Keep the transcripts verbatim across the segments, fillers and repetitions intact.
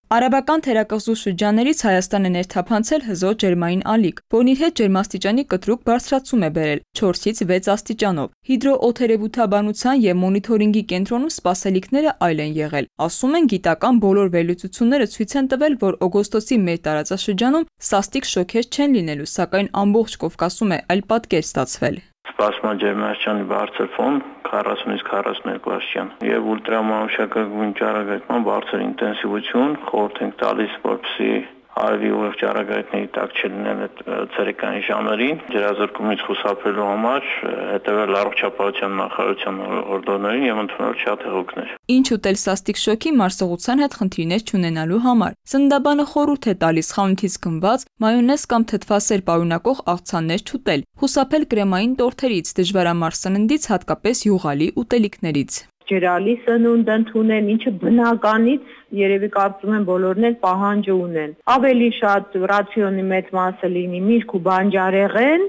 Արաբական թերակղզու շրջաններից Հայաստան է ներթափանցել հզոր ջերմային ալիք, որն իր հետ ջերմաստիճանի կտրուկ բարձրացում է բերել չորսից վեց աստիճանով։ Հիդրոօթերևութաբանության և մոնիթորինգի կենտրոնում սպասելիքները այլ են եղել։ Ասում են, գիտական բոլոր վերլուծությունները ցույց են տվել, որ օգոստոսի մեր տարածաշրջանում սաստիկ շոկեր չեն լինելու, սակայն ամբողջ Կովկասում է այլ պատկեր ստացվել։ Սպասման ջերմաստիճանի բարձր ֆոն քառասունից քառասուներկու աստիճան եւ ուլտրամանուշակագույն ճառագայթման բարձր ինտենսիվություն, խորհուրդ ենք տալիս, որպեսզի արևի ուղիղ ճառագայթների տակ չլինեն այդ ցերեկային ժամերին, ջրազրկումից խուսափելու համար հետևել առողջապահության նախարարության օրդոներին եւ ընդունել շատ հեղուկներ։ Ինչ ուտել սաստիկ շոկի մարսողության հետ խնդիրներ չունենալու համար։ Սննդաբանը խորհուրդ է տալիս խանութից գնված մայոնեզ կամ թթվասեր պարունակող աղցաններ չուտել, խուսափել կրեմային տորթերից, դժվարամարս սննդից, հատկապես յուղալի ուտելիքներից։ Ջրալի սնունդ ընդունել, ինչը բնականից երևի կարծում եմ բոլորն էլ պահանջը ունեն։ Ավելի շատ ռացիոնի մեծ մասը լինի միրգ ու բանջարեղեն,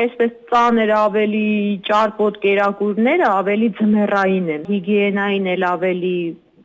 այսպես ծանր ավելի ճարպոտ կերակուրները ավելի ձմեռային են, հիգիենային էլ ավելի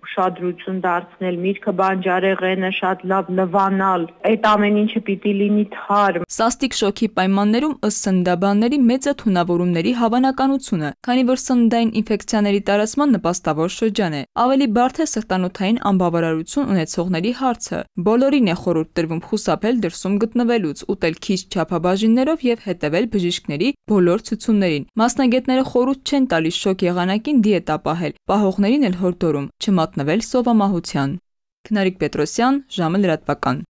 ուշադրություն դարձնել, միրգը բանջարեղենը շատ լավ լվանալ, այդ ամեն ինչը պիտի լինի թարմ։ Սաստիկ շոկի պայմաններում ըստ սննդաբանների մեծ է թունավորումների հավանականությունը, քանի որ սննդային ինֆեկցիաների տարածման նպաստավոր շրջան է։ Ավելի բարդ է սրտանոթային անբավարարություն ունեցողների հարցը։ Բոլորին է խորհուրդ տրվում խուսափել դրսում գտնվելուց, ուտել քիչ չափաբաժիններով եւ հետևել բժիշկների բոլոր ցուցումներին։ Մասնագետները խորհուրդ չեն տալիս շոկ եղանակին դիետա պահել, պահողներին էլ հորդորում չմատնվել սովամահության։ Քնարիկ Պետրոսյան, ժամը լրատվական։